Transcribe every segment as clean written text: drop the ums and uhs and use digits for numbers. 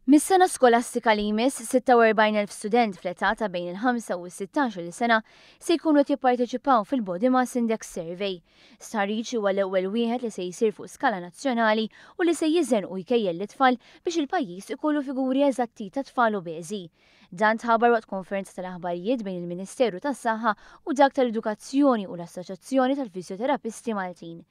Mis-sena skolastika li jmiss, 46,000 student fl-età ta' bejn il-5 u s-16-il sena se jkunu qed jipparteċipaw fil-Body Mass Index Survey. Stħarriġ huwa l-ewwel wieħed li se jsir fuq skala nazzjonali u li se jiżen u jkejjel lit-tfal biex il-pajjiż ikollu figuri eżatti ta' tfal obeżi. Dan tħabbar waqt konferenza tal-aħbarijiet bejn il-Ministeru tas-Saħħa u dak tal-Edukazzjoni u l-Assoċjazzjoni tal-Fiżjoterapisti Maltin.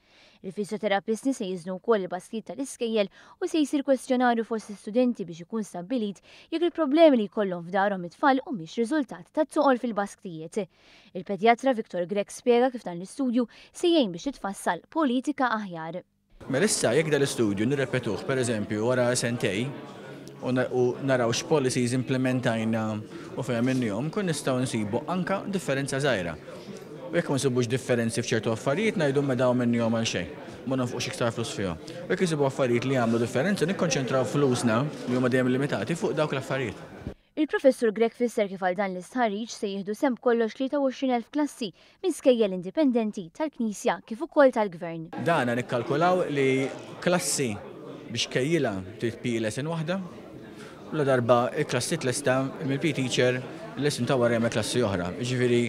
Il-fiżjoterapisti se jiżnu wkoll il-basktijiet tal-iskejjel u se jsir kwestjonarju fost l-istudenti biex ikun stabbilit jekk il-problemi li jkollhom f'darhom it-tfal humiex riżultat tat-toqol fil-basktijiet. Il-pedjatra Victor Grech spjega kif dan l-istudju se jgħin biex titfassal politika aħjar. Mela issa jekk dal-istudju nirrepetuh pereżempju wara sentej u naraw x'policies implementajna u fejn għamilnihom, nkun nistgħu nsibu anke differenza żgħira. U jekk ma nsibux differenzi f'ċertu affarijiet ngħidu mela dawn minnihom għal xejn. Ma nonfqux iktar flus fihom. U jekk insibu affarijiet li jagħmlu differenza nikkonċentraw flusna, li huma dejjem limitati, fuq dawk l-affarijiet. Il-Professur Grech fisser kif għal dan l-istħarriġ se jieħdu sehem b'kollox 23,000 klassi minn skejjel indipendenti, tal-Knisja kif ukoll tal-Gvern. Dana nikkalkulaw li klassi biex tkejjilha trid PE lesson waħda, u ladarba l-klassi tlesta mill-PE teacher il-lesson ta' wara jagħmel klassi oħra. Jiġifieri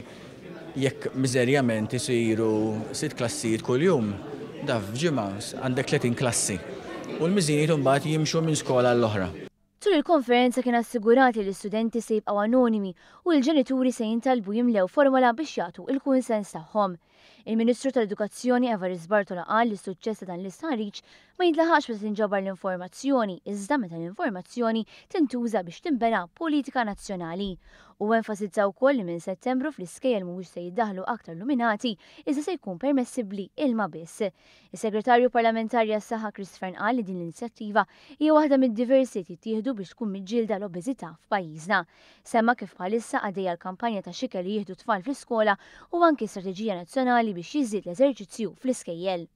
Jekk miżerjament isiru sitt klassijiet kuljum, da f'ġimgħa għandek 30 klassi. U l-miżinijiet imbagħad jimxu minn skola għall-oħra. Tul il-konferenza kien assigurat li l-istudenti se jibqgħu anonimi u l-ġenituri se jintalbu jimlew formola biex jagħtu l-kunsens tagħhom. Il-Ministru tal-Edukazzjoni Evarist Bartolo qal li s-suċċess ta' dan l-istħarriġ ma jintlaħaqx meta tinġabar l-informazzjoni iżda meta l-informazzjoni tintuża biex tinbena politika nazzjonali. Huwa enfasizza wkoll li minn Settembru fl-iskejjel mhuwiex se jiddaħħlu aktar luminati iżda se jkun permessibbli ilma biss. Is-Segretarju Parlamentari għas-Saħħa Chris Fearne qal li din l-inizjattiva hija waħda mid-diversi li jittieħdu biex tkun miġġielda l-obeżità f'pajjiżna. Semma kif bħalissa għaddejja l-kampanja ta' x'ikel li jieħdu t-tfal fl-iskola u anki strateġija nazzjonali biex jiżdied l-eżerċizzju fl-iskejjel.